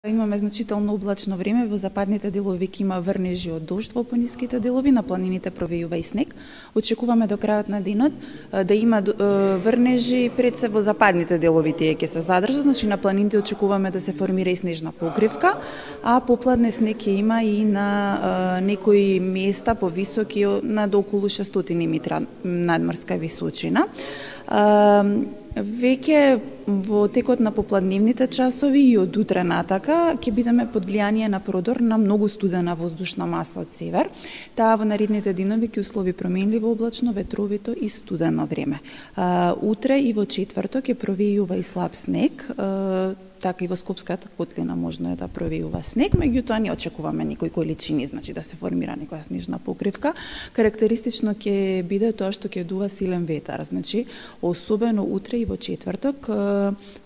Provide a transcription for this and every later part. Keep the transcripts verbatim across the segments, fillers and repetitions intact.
Имаме значително облачно време, во западните делови ќе има врнежи од дожд, во пониските делови на планините провејува и снег. Очекуваме до крајот на денот да има врнежи пред се во западните делови, тие ќе се задржат, значи на планините очекуваме да се формира и снежна покривка, а попладне снег ќе има и на некои места повисоки на до околу шестстотини метра надморска височина. Веќе во текот на попладневните часови и од утре натака ќе бидеме под влијание на продор на многу студена воздушна маса од север. Таа во наредните денови ќе услови променливо облачно, ветровито и студено време. Утре и во четврток ќе провејува и слаб снег, така и во Скопската котлина можно е да провејува снег, меѓутоа не очекуваме некои количини, значи да се формира некоја снежна покривка. Карактеристично ќе биде тоа што ќе дува силен ветер, значи особено утре и во четврток,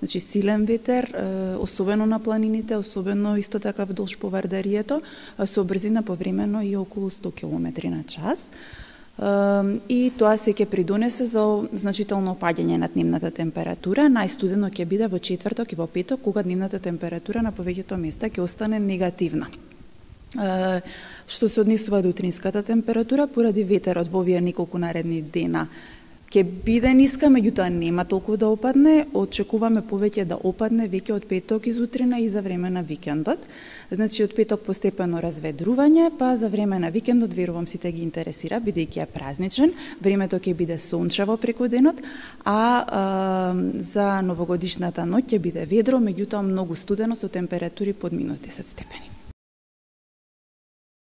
значи силен ветер, особено на планините, особено исто така вдолж повардарието, со брзина повремено и околу сто километри на час. И тоа се ќе придонесе за значително опаѓање на дневната температура. Најстудено ќе биде во четврток и во петок, кога дневната температура на повеќето места ќе остане негативна. Што се однесува до утринската температура, поради ветерот во овие неколку наредни дена ќе биде ниска, меѓутоа нема толку да опадне. Очекуваме повеќе да опадне веќе од петок изутрина и за време на викендот. Значи од петок постепено разведрување, па за време на викендот верувам сите ги интересира, бидејќи е празничен, времето ќе биде сончево преку денот, а, а за новогодишната ноќ ќе биде ведро, меѓутоа многу студено со температури под минус десет степени.